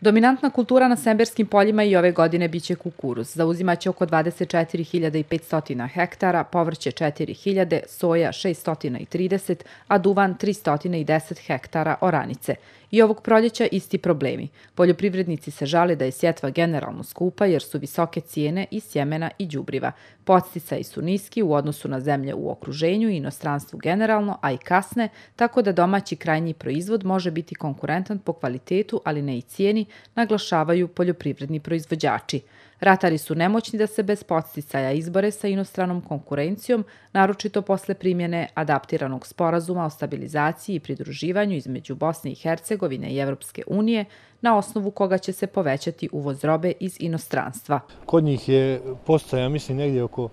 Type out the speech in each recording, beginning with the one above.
Dominantna kultura na semberskim poljima i ove godine biće kukuruz. Zauzimaće oko 24.500 hektara, povrće 4.000, soja 630, a duvan 310 hektara oranice. I ovog proljeća isti problemi. Poljoprivrednici se žale da je sjetva generalno skupa jer su visoke cijene i sjemena i đubriva. Podsticaji su niski u odnosu na zemlje u okruženju i inostranstvu generalno, a i kasne, tako da domaći krajnji proizvod može biti konkurentan po kvalitetu, ali ne i cijeni, naglašavaju poljoprivredni proizvođači. Ratari su nemoćni da se bez podsticaja izbore sa inostranom konkurencijom, naročito posle primjene adaptiranog sporazuma o stabilizaciji i pridruživanju između Bosne i Hercegovine i Evropske unije, na osnovu koga će se povećati uvoz robe iz inostranstva. Kod njih je podsticaja, mislim, negdje oko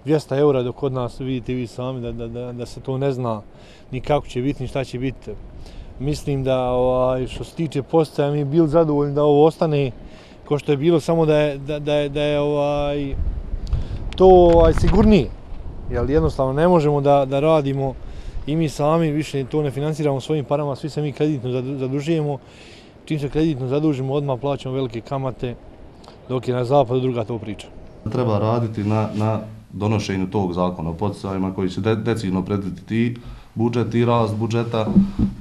200 eura, dok kod nas vidite vi sami da se to ne zna ni kako će biti, ni šta će biti. Mislim da što se tiče podsticaja mi bili zadovoljni da ovo ostane ko što je bilo, samo da je to sigurnije. Jer jednostavno ne možemo da radimo i mi sami više to ne financiramo svojim parama, svi se mi kreditno zadužujemo. Čim se kreditno zadužimo, odmah plaćamo velike kamate, dok je na zapadu druga to priča. Treba raditi na donošenju tog zakona o podsticajima koji će decidno predvidjeti i budžet i rast budžeta,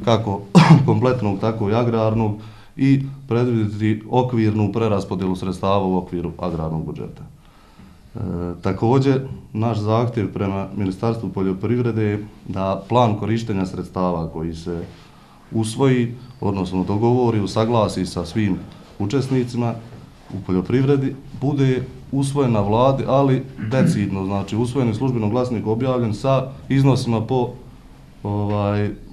kako kompletnog, tako i agrarnog, i predvidjeti okvirnu preraspodjelu sredstava u okviru agrarnog budžeta. Također, naš zahtjev prema Ministarstvu poljoprivrede je da plan korištenja sredstava koji se usvoji, odnosno dogovori, usaglasi sa svim učesnicima u poljoprivredi, bude usvojen na vladi, ali decidno, znači usvojen u službenom glasniku objavljen sa iznosima po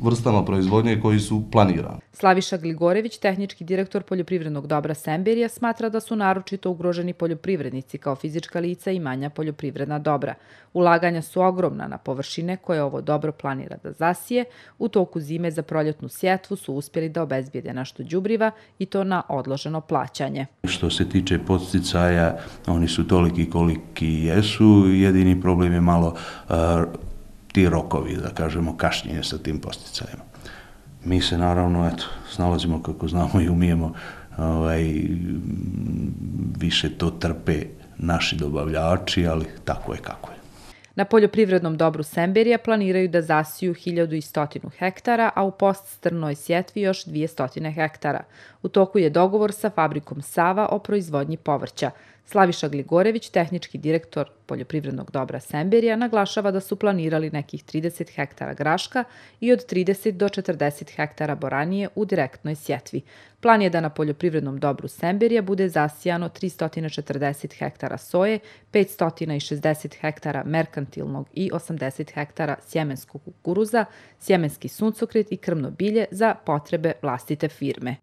vrstama proizvodnje koji su planirani. Slaviša Gligorević, tehnički direktor poljoprivrednog dobra Semberija, smatra da su naročito ugroženi poljoprivrednici kao fizička lica i manja poljoprivredna dobra. Ulaganja su ogromna na površine koje ovo dobro planira da zasije. U toku zime za proljetnu sjetvu su uspjeli da obezbijede nešto đubriva i to na odloženo plaćanje. Što se tiče podsticaja, oni su toliki koliki jesu. Jedini problem je malo ti rokovi, da kažemo, kašnjenje sa tim podsticajima. Mi se naravno snalazimo kako znamo i umijemo, više to trpe naši dobavljači, ali tako je kako je. Na poljoprivrednom dobru Semberija planiraju da zasiju 1100 hektara, a u poststrnoj sjetvi još 200 hektara. U toku je dogovor sa fabrikom Sava o proizvodnji povrća. Slaviša Gligorević, tehnički direktor poljoprivrednog dobra Semberija, naglašava da su planirali nekih 30 hektara graška i od 30 do 40 hektara boranije u direktnoj sjetvi. Plan je da na poljoprivrednom dobru Semberija bude zasijano 340 hektara soje, 560 hektara merkantilnog i 80 hektara sjemenskog kukuruza, sjemenski suncokret i krmno bilje za potrebe vlastite firme.